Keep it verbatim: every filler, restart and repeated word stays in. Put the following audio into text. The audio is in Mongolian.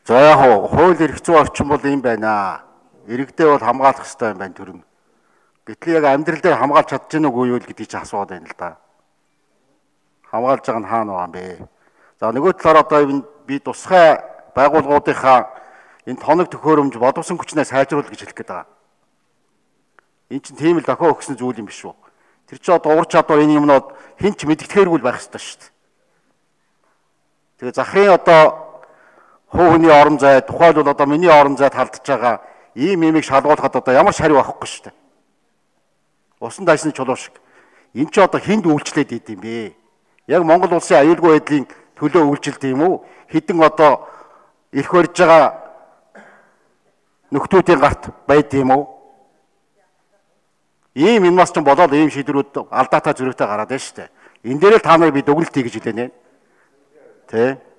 За яг хууль эрх зүйн орчин бол юм байна. Иргэдээ бол хамгаалах хэрэгтэй юм байна төрн. Гэтэл яг амьдрал дээр хамгаалж чадж гэнэ үгүй юу гэдгийг ч асууад байна л да. Хамгаалж байгаа нь хаана байгаа юм бэ? За нөгөө талаар одоо би тусгай байгууллагуудынхаа энэ тоног төхөөрөмж боловсон хүчнээ сайжруулах гэж хэлэх гээд байгаа. Энэ чинь тийм л дохио өгсөн зүйл юм биш үү? Тэр чинь одоо ур чадвар энэ юмнууд хэн ч мэддэхээргүй байх ёстой шүү дээ. Тэгээ захрын одоо хуу хөний орон зай, тухайлбал одоо миний орон зайд халдж байгаа ийм имийг шалгуулахад одоо ямар шариу авахгүй шүү дээ. Усан дайсны чулуу шиг. Энд чи одоо хүнд үйлчлээд идэм бэ? Яг Монгол улсын аюулгүй байдлын төлөө үйлчлэлт юм уу? Хэдэн одоо ирэх барьж байгаа нөхдүүдийн гарт байд юм уу? Ийм энэ бас ч болоод ийм шийдвэрүүд алдаатай зөрүүтэй гараад байна шүү дээ. Энэ дээр л та нарыг би дүгнэлт хий гэж хэлээ нэ. Тэ?